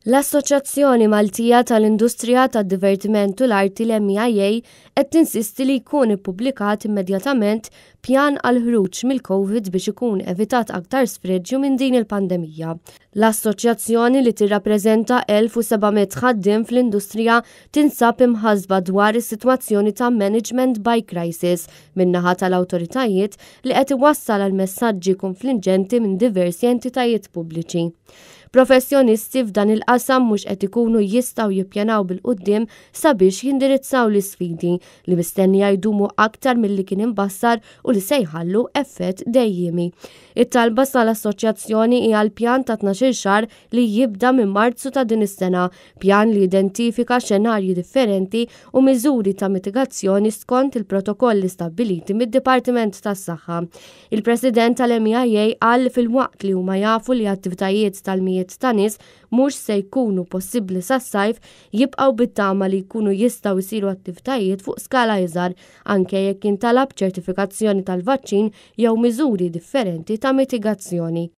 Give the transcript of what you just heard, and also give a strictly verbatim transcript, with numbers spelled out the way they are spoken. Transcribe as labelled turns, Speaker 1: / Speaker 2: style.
Speaker 1: L-Assoċjazzjoni Maltija tal-Industrija tad-Divertiment u l-Arti, l-M E I A, qed tinsisti li jkun ippubblikat immedjatament pjan għal ħruġ mill-Covid biex ikun evitat aktar sfreġju minn din il-pandemija. L-assoċjazzjoni, li tirrappreżenta elf u seba' mitt ħaddiem fl-industrija, tinsab imħasba dwar is-sitwazzjoni ta' management by crisis min-naħa tal-awtoritajiet, li qed iwassal għal messaġġi konfliġġenti minn diversi entitajiet pubbliċi. Professjonisti f'dan il-qasam mhux qed ikunu jistgħu jippjanaw bil-quddiem sabiex jindirizzaw l-isfidi li mistennija jdumu aktar milli kien imbassar u li se jħallu effett dejjimi. It-talba tal-assoċjazzjoni hija l-pjan ta' tnax-il xahar li jibda minn Marzu ta' din is-sena, pjan li identifika xenarji differenti u miżuri ta' mitigazzjoni skont il-protokolli stabbiliti mid-Dipartiment tas-Saħħa. Il-President tal-M E I A qal filwaqt li huma jafu li attivitajiet tal-mijiet ta' nies mhux se jkunu possibbli sas-sajf, jibqgħu bit-tama li jkunu jistgħu jsiru attivitajiet fuq skala iżgħar, anke jekk jintalab ċertifikazzjoni tal-vaċċin jew miżuri differenti ta' mitigazzjoni.